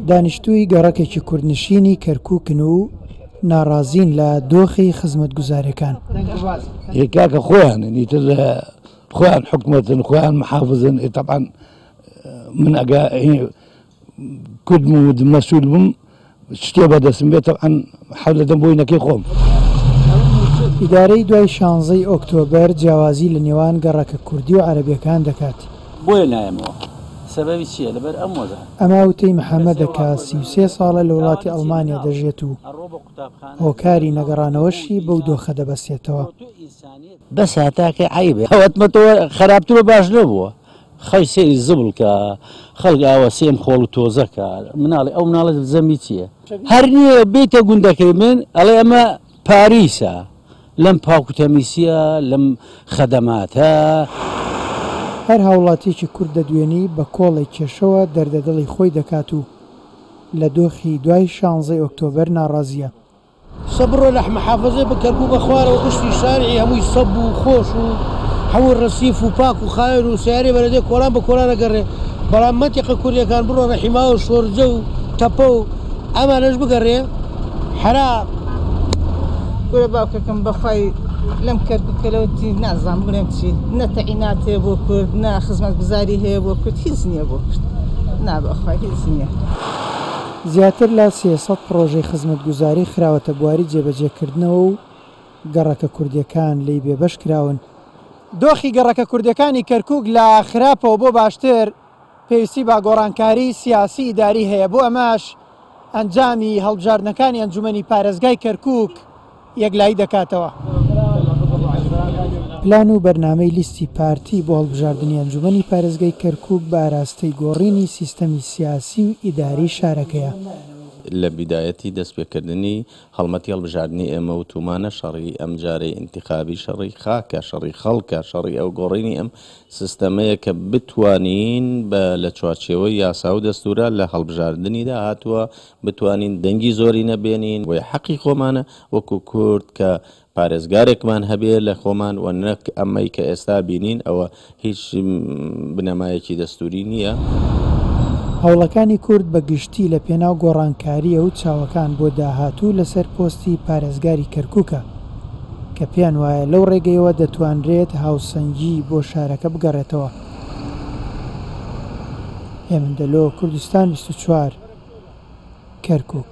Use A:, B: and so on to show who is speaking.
A: دانیشتووی گەڕەکێکی کوردنشینی کەرکووکن و ناڕازین لە دۆخی خزمەتگوزارییەکان.
B: ئێ کاکە خۆیانن ئیتر خۆیان حکومەتن خۆیان محافزن ئێ تەبعەن من ئەگە کوردم و مەسول بم شتێ بەدەستم بێت تەبعەن حەول دەدەم بۆی نەکەی خۆم.
A: ئیدارەی دوای شانزەی ئۆکتۆبەر جیاوازی لە نێوان گەڕەکە کوردی و عەرەبیەکان دەکات.
C: بۆیە نایەمەوە سەبەبی چیە لەبەر ئەم وەزعە.
A: ئەمە وتەی محەمەدە کە 33 ساڵە لە وڵاتی ئەڵمانیا دەژێت و هۆکاری نەگەڕانەوەشی بەو دۆخە دەبەستێتەوە.
C: بەس هەتاکەی عەیبە ئەوەتمە تۆ خراپتر و باش نەبووە خەڵک سەیری زبڵ کە خەڵک ئاوا سێم خۆڵ و تۆزە کە مناڵی ئەو مناڵە زەمی چییە هەر نییە بیتە گوندەکەی من ئەڵێ ئەمە پاریسە لەم پاک و تەمیسیە لەم خەدەماتە.
A: هەر هاوڵاتیەکی کورد دەدوێنی بە کۆڵێک کێشەوە دەردە دڵی خۆی دەکات و لە دۆخی دوای شانزەی ئۆکتۆبەر ناڕازیە.
D: سە بڕۆ لە محافەزەی بە کەرکوک بە خوارەوە گشتی شارعی هەمووی سەب و خۆش و هەموو ڕەسیف و پاک و خاوێن و سەیارەی بەلەدیە کۆڵان بە کۆڵان ئەگەڕێ بەڵام مەنتیقە کوردیەکان بڕۆ ڕەحیماوە و شۆرجە و تەپە و ئەمانەش بگەڕێ حەرا.
E: کورە باوکەکەم بەخوای لەم کەرکوکە لەوە چی نازانم بڵێم چی نە تەعینات هەیە بۆ کورد نە خزمەتگوزاری هەیە بۆ کورد هیچ نییە بۆ کورد نا بەخوای هیچ نییە.
A: زیاتر لە 300 پڕۆژەی خزمەتگوزاری خراوەتە بواری جێبەجێکردنەوە و گەڕەکە کوردییەکان لێی بێبەش کراون. دۆخی گەڕەکە کوردییەکانی کەرکوک لە خراپەوە بۆ باشتر پێویستی بە گۆڕانکاری سیاسی ئیداری هەیە، بۆ ئەمەش ئەنجامی هەڵبژاردنەکانی ئەنجومەنی پارێزگای کەرکوک یەکلایی دەکاتەوە. پلان و بەرنامەی لیستی پارتی بۆ هەڵبژاردنی ئەنجومەنی پارێزگای کەرکوک بە ئاراستەی گۆڕینی سیستەمی سیاسی و ئیداری شارەکەیە.
F: لە بیدایەتی دەستپێکردنی هەڵمەتی هەڵبژاردنی ئێمە وتومانە شەڕی ئەمجارەی ئینتیخابی شەڕی خاکە، شەڕی خەڵکە، شەڕی ئەو گۆڕینی ئەم سیستەمەیە کە بتوانین بە لە چوارچێوەی یاسا و دەستورا لە هەڵبژاردنی داهاتووە بتوانین دەنگی زۆرینە بێنین، بۆیە حەقی خۆمانە وەکو کورد کە پارێزگارێکمان هەبێ لە خۆمان و نەک ئەمەی کە ئێستا بینین ئەوە هیچ بنەمایەکی دەستوری نییە.
A: هەوڵەکانی کورد بە گشتی لە پێناو گۆڕانکارییە و چاوەکان بۆ داهاتوو لەسەر پۆستی پارێزگاری کەرکوکە کە پێیان وایە لەو ڕێگەیەوە دەتوانرێت هاوسەنگی بۆ شارەکە بگەڕێتەوە. هێمن دەلۆ، کوردستان 24، کەرکوک.